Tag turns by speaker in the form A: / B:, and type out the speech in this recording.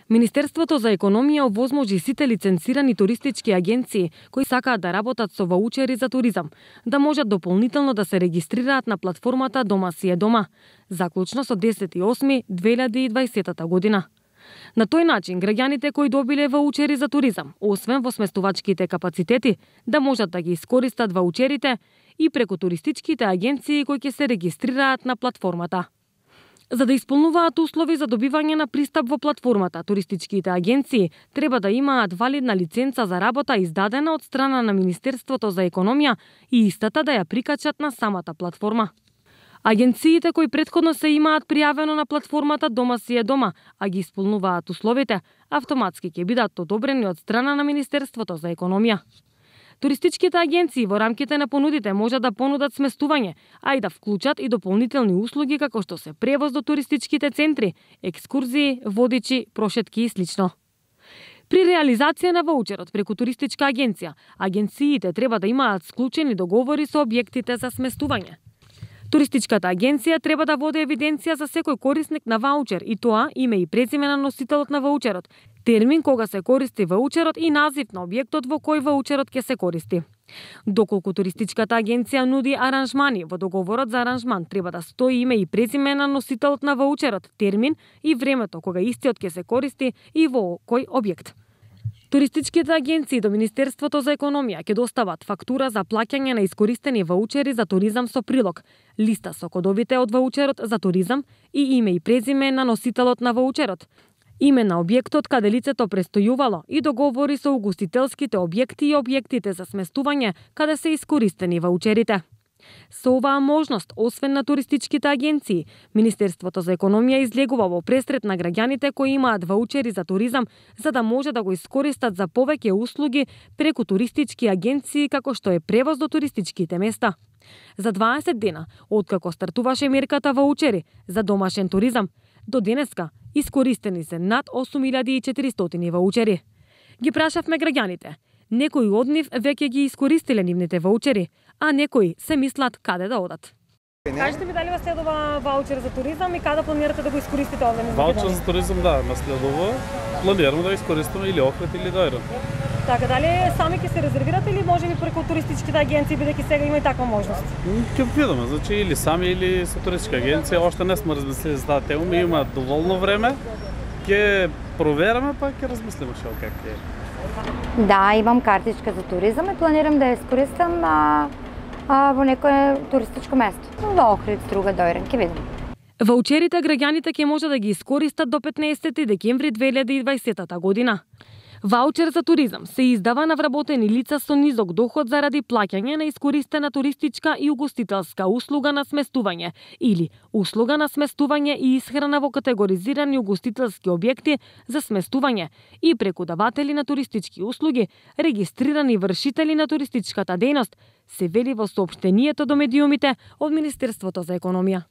A: Министерството за економија овозможи сите лиценцирани туристички агенции кои сакаат да работат со ваучери за туризам, да можат дополнително да се регистрираат на платформата Дома си е дома, заклучно со 10.8.2020 година. На тој начин, граѓаните кои добиле ваучери за туризам, освен во сместувачките капацитети, да можат да ги искористат ваучерите и преку туристичките агенции кои ќе се регистрираат на платформата. За да исполнуваат услови за добивање на пристап во платформата, туристичките агенции треба да имаат валидна лиценца за работа издадена од страна на Министерството за економија и истата да ја прикачат на самата платформа. Агенциите кои претходно се имаат пријавено на платформата Дома си е дома, а ги исполнуваат условите, автоматски ќе бидат одобрени од страна на Министерството за економија. Туристичките агенции во рамките на понудите можат да понудат сместување, а и да вклучат и дополнителни услуги како што се превоз до туристичките центри, екскурзии, водичи, прошетки и слично. При реализација на ваучерот преку туристичка агенција, агенциите треба да имаат склучени договори со објектите за сместување. Туристичката агенција треба да води евиденција за секој корисник на ваучер и тоа име и презиме на носителот на ваучерот, термин кога се користи ваучерот и назив на објектот во кој ваучерот ќе се користи. Доколку туристичката агенција нуди аранжмани, во договорот за аранжман треба да стои име и презиме на носителот на ваучерот, термин и времето кога истиот ќе се користи и во кој објект. Туристичките агенции до Министерството за економија ќе достават фактура за плаќање на искористени ваучери за туризам со прилог, листа со кодовите од ваучерот за туризам и име и презиме на носителот на ваучерот, име на објектот каде лицето престојувало и договори со угостителските објекти и објектите за сместување каде се искористени ваучерите. Со оваа можност, освен на туристичките агенции, Министерството за економија излегува во пресрет на граѓаните кои имаат ваучери за туризам за да може да го искористат за повеќе услуги преку туристички агенции како што е превоз до туристичките места. За 20 дена, откако стартуваше мерката ваучери за домашен туризам, до денеска искористени се над 8400 ваучери. Ги прашавме граѓаните. Некои од нив веќе ги искористиле нивните ваучери, а некои се мислат каде да одат. Кажете ми дали вас следува ваучер за туризам и каде планирате да го искористите овде низ Македонија?
B: Ваучер за туризам, да, ме следува. Планираме да го искористиме или Охрид или Дојран.
A: Така, дали сами ќе се резервирате или може би преку туристичките агенции, бидејќи сега има и таква можност?
B: Ќе видиме, значи или сами или со туристичка агенција, оште не сме размислили за таа тема, има доволно време. Ќе провераме па ќе размислиме што как е.
C: Да, имам картичка за туризам и планирам да ја искористам во некое туристичко место. Во Охрид, Струга, Дојран, ќе видим.
A: Ваучерите граѓаните ќе може да ги искористат до 15 декември 2020 година. Ваучер за туризам се издава на вработени лица со низок доход заради плаќање на искористена туристичка и угостителска услуга на сместување или услуга на сместување и исхрана во категоризирани угостителски објекти за сместување и преку даватели на туристички услуги, регистрирани вршители на туристичката дејност, се вели во соопштението до медиумите од Министерството за економија.